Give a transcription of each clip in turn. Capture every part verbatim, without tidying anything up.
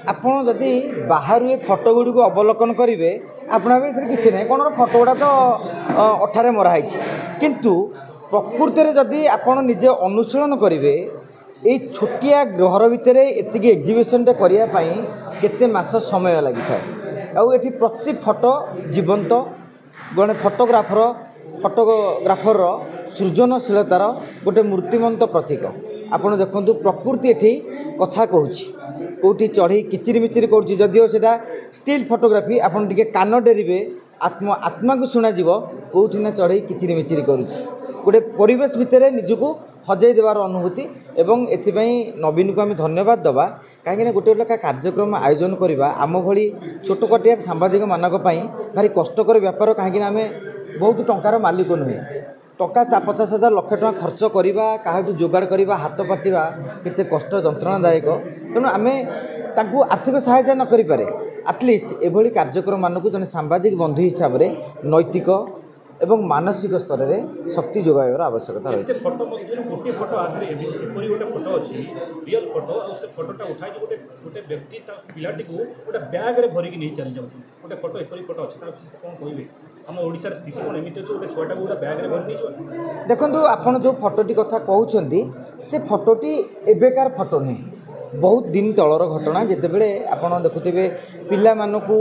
ଆପଣ ଯଦି ବାହାରୁ ଏ ଫଟୋ ଗୁଡ଼ିକୁ ଅବଲୋକନ କରିବେ, ଆପଣ ଭାବିବେ ଏଥିରେ କିଛି ନାହିଁ, କ'ଣ ଫଟୋ ଗୁଡ଼ା ତ ଅଠାରେ ମରା ହେଇଛି। କିନ୍ତୁ ପ୍ରକୃତରେ ଯଦି ଆପଣ ନିଜେ ଅନୁଶୀଳନ କରିବେ, ଏଇ ଛୋଟିଆ ଘର ଭିତରେ ଏତିକି ଏକ୍ଜିବିସନ୍ଟା କରିବା ପାଇଁ କେତେ ମାସ ସମୟ ଲାଗିଥାଏ। ଆଉ ଏଠି ପ୍ରତି ଫଟୋ ଜୀବନ୍ତ, ଜଣେ ଫଟୋଗ୍ରାଫର ଫଟୋଗ୍ରାଫରର ସୃଜନଶୀଳତାର ଗୋଟେ ମୂର୍ତ୍ତିମନ୍ତ ପ୍ରତୀକ। ଆପଣ ଦେଖନ୍ତୁ, ପ୍ରକୃତି ଏଠି କଥା କହୁଛି, କେଉଁଠି ଚଢ଼େଇ କିଚିରି ମିଚିରି କରୁଛି। ଯଦିଓ ସେଇଟା ଷ୍ଟିଲ୍ ଫଟୋଗ୍ରାଫି, ଆପଣ ଟିକେ କାନ ଡେରିବେ, ଆତ୍ମ ଆତ୍ମାକୁ ଶୁଣାଯିବ କେଉଁଠି ନା ଚଢ଼େଇ କିଚିରି ମିଚିରି କରୁଛି। ଗୋଟେ ପରିବେଶ ଭିତରେ ନିଜକୁ ହଜେଇ ଦେବାର ଅନୁଭୂତି। ଏବଂ ଏଥିପାଇଁ ନବୀନକୁ ଆମେ ଧନ୍ୟବାଦ ଦେବା, କାହିଁକିନା ଗୋଟେ ଲେଖା କାର୍ଯ୍ୟକ୍ରମ ଆୟୋଜନ କରିବା ଆମ ଭଳି ଛୋଟକାଟିଆ ସାମ୍ବାଦିକମାନଙ୍କ ପାଇଁ ଭାରି କଷ୍ଟକର ବ୍ୟାପାର, କାହିଁକିନା ଆମେ ବହୁତ ଟଙ୍କାର ମାଲିକ ନୁହେଁ। ଟଙ୍କା ପଚାଶ ହଜାର ଲକ୍ଷ ଟଙ୍କା ଖର୍ଚ୍ଚ କରିବା, କାହାଠୁ ଯୋଗାଡ଼ କରିବା, ହାତ ପାତିବା କେତେ କଷ୍ଟ ଯନ୍ତ୍ରଣାଦାୟକ। ତେଣୁ ଆମେ ତାଙ୍କୁ ଆର୍ଥିକ ସହାୟତା ନ କରିପାରେ, ଆଟଲିଷ୍ଟ ଏଭଳି କାର୍ଯ୍ୟକ୍ରମମାନଙ୍କୁ ଜଣେ ସାମ୍ବାଦିକ ବନ୍ଧୁ ହିସାବରେ ନୈତିକ ଏବଂ ମାନସିକ ସ୍ତରରେ ଶକ୍ତି ଯୋଗାଇବାର ଆବଶ୍ୟକତା ରହିଛି। ଏତେ ଫଟୋ ମଧ୍ୟରୁ ଗୋଟିଏ ଫଟୋ ଆଧାରେ ଏପରି ଗୋଟେ ଫଟୋ ଅଛି, ରିଅଲ୍ ଫଟୋ, ଆଉ ସେ ଫଟୋଟା ଉଠାଇକି ଗୋଟେ ଗୋଟେ ବ୍ୟକ୍ତି ତା ପିଲାଟିକୁ ଗୋଟେ ବ୍ୟାଗ୍ରେ ଭରିକି ନେଇ ଚାଲି ଯାଉଛନ୍ତି। ଗୋଟେ ଫଟୋ, ଏପରି ଫଟୋ ଅଛି, ତା ବିଷୟରେ କ'ଣ କହିବେ? ଆମ ଓଡ଼ିଶାର ସ୍ଥିତି କ'ଣ ଏମିତି ଅଛି, ଗୋଟେ ଛୁଆଟାକୁ ଗୋଟେ ବ୍ୟାଗ୍ରେ ଭରି ନେଇଯିବ? ଦେଖନ୍ତୁ, ଆପଣ ଯେଉଁ ଫଟୋଟି କଥା କହୁଛନ୍ତି, ସେ ଫଟୋଟି ଏବେକାର ଫଟୋ ନୁହେଁ, ବହୁତ ଦିନ ତଳର ଘଟଣା, ଯେତେବେଳେ ଆପଣ ଦେଖୁଥିବେ ପିଲାମାନଙ୍କୁ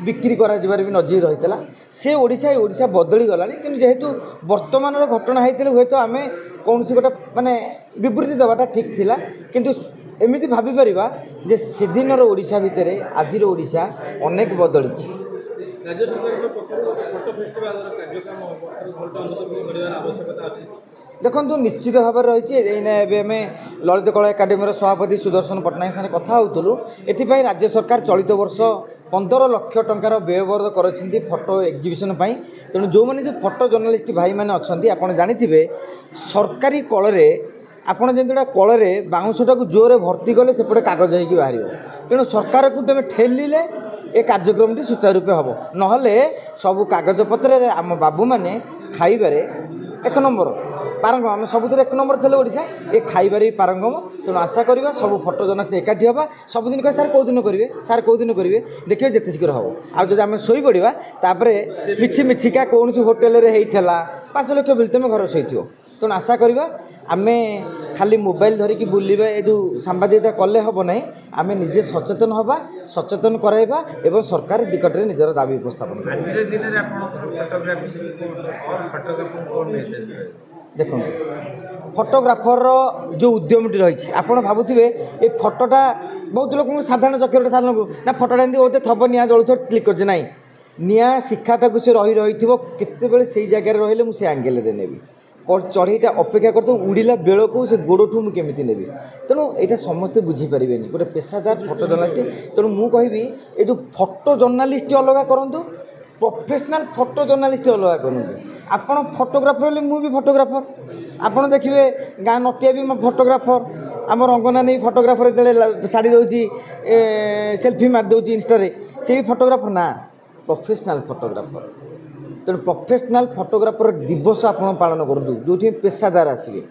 ବିକ୍ରି କରାଯିବାର ବି ନଜିର ରହିଥିଲା। ସେ ଓଡ଼ିଶା, ଏ ଓଡ଼ିଶା ବଦଳି ଗଲାଣି। କିନ୍ତୁ ଯେହେତୁ ବର୍ତ୍ତମାନର ଘଟଣା ହେଇଥିଲେ ହୁଏତ ଆମେ କୌଣସି ଗୋଟେ ମାନେ ବିବୃତି ଦେବାଟା ଠିକ୍ ଥିଲା। କିନ୍ତୁ ଏମିତି ଭାବିପାରିବା ଯେ ସେଦିନର ଓଡ଼ିଶା ଭିତରେ ଆଜିର ଓଡ଼ିଶା ଅନେକ ବଦଳିଛି। ରାଜ୍ୟ ସରକାରଙ୍କ ପକ୍ଷରୁ ଗୋଟେ ଫଟୋ ଫେଷ୍ଟିଭାଲର କାର୍ଯ୍ୟକ୍ରମ ହେବ, ତାକୁ ଭଲରେ କରିବାର ଆବଶ୍ୟକତା ଅଛି? ଦେଖନ୍ତୁ, ନିଶ୍ଚିତ ଭାବରେ ରହିଛି। ଏଇନା ଏବେ ଆମେ ଲଳିତ କଳା ଏକାଡେମୀର ସଭାପତି ସୁଦର୍ଶନ ପଟ୍ଟନାୟକ ସାଙ୍ଗରେ କଥା ହେଉଥିଲୁ। ଏଥିପାଇଁ ରାଜ୍ୟ ସରକାର ଚଳିତ ବର୍ଷ ପନ୍ଦର ଲକ୍ଷ ଟଙ୍କାର ବ୍ୟୟବରାଦ କରିଛନ୍ତି ଫଟୋ ଏକ୍ଜିବିସନ୍ ପାଇଁ। ତେଣୁ ଯେଉଁମାନେ ଯେଉଁ ଫଟୋ ଜର୍ଣ୍ଣାଲିଷ୍ଟ ଭାଇମାନେ ଅଛନ୍ତି, ଆପଣ ଜାଣିଥିବେ ସରକାରୀ କଳରେ ଆପଣ ଯେମିତି ଗୋଟେ କଳରେ ବାଉଁଶଟାକୁ ଜୋରରେ ଭର୍ତ୍ତି କଲେ ସେପଟେ କାଗଜ ହେଇକି ବାହାରିବ। ତେଣୁ ସରକାରକୁ ତୁମେ ଠେଲିଲେ ଏ କାର୍ଯ୍ୟକ୍ରମଟି ସୁଚାରୁ ରୂପେ ହେବ, ନହେଲେ ସବୁ କାଗଜପତ୍ରରେ ଆମ ବାବୁମାନେ ଖାଇବାରେ ଏକ ନମ୍ବର ପାରଙ୍ଗମ। ଆମେ ସବୁଥିରେ ଏକ ନମ୍ବର ଥିଲେ ଓଡ଼ିଶା, ଏ ଖାଇବାରେ ବି ପାରଙ୍ଗମ। ତେଣୁ ଆଶା କରିବା ସବୁ ଫଟୋ ଜର୍ଣ୍ଣାଲିଷ୍ଟ ଏକାଠି ହେବା। ସବୁଦିନ କହିବେ, ସାର୍ କେଉଁ ଦିନ କରିବେ, ସାର୍ କେଉଁ ଦିନ କରିବେ? ଦେଖିବେ ଯେତେ ଶୀଘ୍ର ହେବ। ଆଉ ଯଦି ଆମେ ଶୋଇପଡ଼ିବା, ତାପରେ ମିଛି ମିଛିକା କୌଣସି ହୋଟେଲରେ ହେଇଥିଲା, ପାଞ୍ଚ ଲକ୍ଷ ବିଲ୍, ତୁମେ ଘରେ ଶୋଇଥିବ। ତେଣୁ ଆଶା କରିବା ଆମେ ଖାଲି ମୋବାଇଲ ଧରିକି ବୁଲିବା, ଏ ଯେଉଁ ସାମ୍ବାଦିକତା କଲେ ହେବ ନାହିଁ। ଆମେ ନିଜେ ସଚେତନ ହେବା, ସଚେତନ କରାଇବା ଏବଂ ସରକାର ନିକଟରେ ନିଜର ଦାବି ଉପସ୍ଥାପନ କରିବା। ଆଜିର ଦିନରେ ଆପଣଙ୍କର ଫଟୋଗ୍ରାଫି, ଫଟୋଗ୍ରାଫରଙ୍କୁ କ'ଣ ମେସେଜ ରହିବ? ଦେଖନ୍ତୁ, ଫଟୋଗ୍ରାଫରର ଯେଉଁ ଉଦ୍ୟମଟି ରହିଛି, ଆପଣ ଭାବୁଥିବେ ଏ ଫଟୋଟା ବହୁତ ଲୋକଙ୍କୁ ସାଧାରଣ ଚକ୍ଷୁରେ ସାଧାରଣ ନା ଫଟୋଟା ଏମିତି ବୋଧେ ଥବ, ନିଆଁ ଜଳୁଥିବ, କ୍ଲିକ୍ କରିଛି। ନାହିଁ, ନିଆଁ ଶିଖାଟାକୁ ସେ ରହି ରହିଥିବ, କେତେବେଳେ ସେଇ ଜାଗାରେ ରହିଲେ ମୁଁ ସେ ଆଙ୍ଗେଲରେ ନେବି, ଚଢ଼େଇଟା ଅପେକ୍ଷା କରିଥିବ ଉଡ଼ିଲା ବେଳକୁ ସେ ଗୋଡ଼ଠୁ ମୁଁ କେମିତି ନେବି। ତେଣୁ ଏଇଟା ସମସ୍ତେ ବୁଝିପାରିବେନି ଗୋଟେ ପେସାଦାର ଫଟୋ ଜର୍ଣ୍ଣାଲିଷ୍ଟ। ତେଣୁ ମୁଁ କହିବି, ଏ ଯେଉଁ ଫଟୋ ଜର୍ଣ୍ଣାଲିଷ୍ଟ ଅଲଗା କରନ୍ତୁ, ପ୍ରଫେସନାଲ୍ ଫଟୋ ଜର୍ଣ୍ଣାଲିଷ୍ଟ ଅଲଗା କରନ୍ତୁ। ଆପଣ ଫଟୋଗ୍ରାଫର ହେଲେ ମୁଁ ବି ଫଟୋଗ୍ରାଫର। ଆପଣ ଦେଖିବେ ଗାଁ ନଟିଆ ବି ଫଟୋଗ୍ରାଫର, ଆମ ରଙ୍ଗନାନୀ ଫଟୋଗ୍ରାଫର, ଯେତେବେଳେ ଛାଡ଼ି ଦେଉଛି, ସେଲ୍ଫି ମାରି ଦେଉଛି ଇନଷ୍ଟାରେ, ସେ ବି ଫଟୋଗ୍ରାଫର ନା ପ୍ରଫେସନାଲ୍ ଫଟୋଗ୍ରାଫର। ତେଣୁ ପ୍ରଫେସନାଲ୍ ଫଟୋଗ୍ରାଫର ଦିବସ ଆପଣ ପାଳନ କରନ୍ତୁ, ଯେଉଁଠି ପେସାଦାର ଆସିବେ,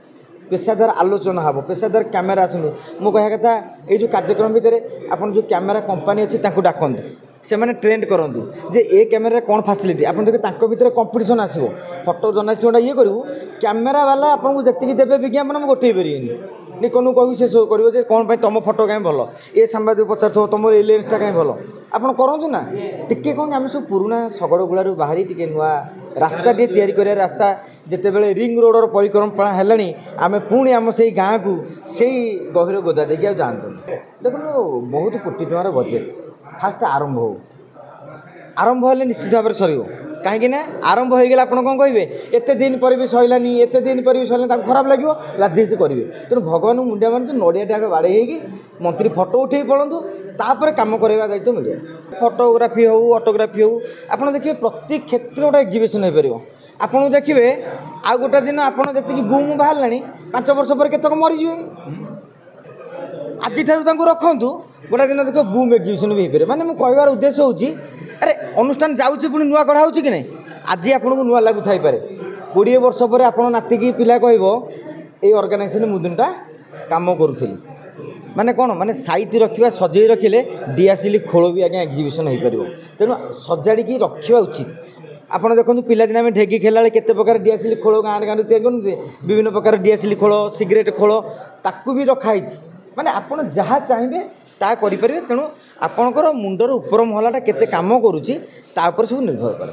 ପେସାଦାର ଆଲୋଚନା ହେବ, ପେସାଦାର କ୍ୟାମେରା ଆସନ୍ତୁ। ମୁଁ କହିବା କଥା, ଏଇ ଯେଉଁ କାର୍ଯ୍ୟକ୍ରମ ଭିତରେ ଆପଣ ଯେଉଁ କ୍ୟାମେରା କମ୍ପାନୀ ଅଛି ତାଙ୍କୁ ଡାକନ୍ତୁ, ସେମାନେ ଟ୍ରେଣ୍ଡ କରନ୍ତୁ ଯେ ଏ କ୍ୟାମେରାରେ କ'ଣ ଫାସିଲିଟି। ଆପଣ ଦେଖିବେ ତାଙ୍କ ଭିତରେ କମ୍ପିଟିସନ୍ ଆସିବ। ଫଟୋ ଜର୍ଣ୍ଣାଲିଷ୍ଟ ଗୋଟେ ଇଏ କରିବୁ, କ୍ୟାମେରା ବାଲା ଆପଣଙ୍କୁ ଯେତିକି ଦେବେ ବିଜ୍ଞାପନ, ମୁଁ ଗୋଟେଇ ପାରିବେନି। ନିକନକୁ କହିବି, ସେ ସବୁ କରିବ ଯେ କ'ଣ ପାଇଁ ତୁମ ଫଟୋ କାହିଁ ଭଲ, ଏ ସାମ୍ବାଦିକ ପଚାରୁଥିବ ତୁମର ଏ ଲେନ୍ସଟା କାହିଁ ଭଲ। ଆପଣ କରନ୍ତୁ ନା ଟିକେ କ'ଣ, ଆମେ ସବୁ ପୁରୁଣା ଶଗଡ଼ ଗୁଳାରୁ ବାହାରି ଟିକେ ନୂଆ ରାସ୍ତା ଟିକେ ତିଆରି କରିବା ରାସ୍ତା। ଯେତେବେଳେ ରିଙ୍ଗ ରୋଡ଼ର ପରିକଳ୍ପନା ହେଲାଣି, ଆମେ ପୁଣି ଆମ ସେଇ ଗାଁକୁ ସେଇ ଗଭୀର ଗୋଦା ଦେଇକି ଆଉ ଯାଆନ୍ତୁନି। ଦେଖନ୍ତୁ, ବହୁତ କୋଟି ଟଙ୍କାର ବଜେଟ୍, ଫାଷ୍ଟ ଆରମ୍ଭ ହେଉ। ଆରମ୍ଭ ହେଲେ ନିଶ୍ଚିତ ଭାବରେ ସରିବ, କାହିଁକି ନା ଆରମ୍ଭ ହେଇଗଲେ ଆପଣ କ'ଣ କହିବେ? ଏତେ ଦିନ ପରେ ବି ସରିଲାନି, ଏତେ ଦିନ ପରେ ବି ସରିଲାନି, ତାଙ୍କୁ ଖରାପ ଲାଗିବ, ଲାଦି କରିବେ। ତେଣୁ ଭଗବାନଙ୍କୁ ମୁଣ୍ଡିଆ ମାରୁଛୁ, ନଡ଼ିଆଟା ଆଗ ବାଡ଼େଇ ହେଇକି ମନ୍ତ୍ରୀ ଫଟୋ ଉଠେଇ ପଳନ୍ତୁ, ତାପରେ କାମ କରିବା ଦାୟିତ୍ୱ ମିଡ଼ିଆ। ଫଟୋଗ୍ରାଫି ହେଉ, ଅଟୋଗ୍ରାଫି ହେଉ, ଆପଣ ଦେଖିବେ ପ୍ରତି କ୍ଷେତ୍ରରେ ଗୋଟେ ଏକ୍ଜିବିସନ୍ ହେଇପାରିବ। ଆପଣଙ୍କୁ ଦେଖିବେ ଆଉ ଗୋଟେ ଦିନ ଆପଣ ଯେତିକି ବୁମ୍ ବାହାରିଲାଣି, ପାଞ୍ଚ ବର୍ଷ ପରେ କେତେକ ମରିଯିବେ। ଆଜିଠାରୁ ତାଙ୍କୁ ରଖନ୍ତୁ, ଗୋଟେ ଦିନ ଦେଖିବ ବୁମ୍ ଏକ୍ଜିବିସନ୍ ବି ହେଇପାରିବ। ମାନେ ମୁଁ କହିବାର ଉଦ୍ଦେଶ୍ୟ ହେଉଛି, ଆରେ ଅନୁଷ୍ଠାନ ଯାଉଛି, ପୁଣି ନୂଆ ଗଢ଼ା ହେଉଛି କି ନାହିଁ? ଆଜି ଆପଣଙ୍କୁ ନୂଆ ଲାଗୁଥାଇପାରେ, କୋଡ଼ିଏ ବର୍ଷ ପରେ ଆପଣ ନାତିକି ପିଲା କହିବ ଏଇ ଅର୍ଗାନାଇଜେସନ୍ ମୁଁ ଦିନଟା କାମ କରୁଥିଲି। ମାନେ କ'ଣ ମାନେ ସାଇତି ରଖିବା ସଜେଇ ରଖିଲେ ଡିଆସିଲି ଖୋଳ ବି ଆଜ୍ଞା ଏକ୍ଜିବିସନ୍ ହେଇପାରିବ ତେଣୁ ସଜାଡ଼ିକି ରଖିବା ଉଚିତ ଆପଣ ଦେଖନ୍ତୁ ପିଲାଦିନେ ଆମେ ଢେଗି ଖେଳିଲା ବେଳେ କେତେ ପ୍ରକାର ଡିଆସିଲି ଖୋଳ ଗାଁରେ ଗାଁରେ ତିଆରି କରନ୍ତି ବିଭିନ୍ନ ପ୍ରକାର ଡିଆସିଲି ଖୋଳ ସିଗାରେଟ୍ ଖୋଳ ତାକୁ ବି ରଖାହେଇଛି ମାନେ ଆପଣ ଯାହା ଚାହିଁବେ ତାହା କରିପାରିବେ ତେଣୁ ଆପଣଙ୍କର ମୁଣ୍ଡର ଉପର ମହଲାଟା କେତେ କାମ କରୁଛି ତା ଉପରେ ସବୁ ନିର୍ଭର କରେ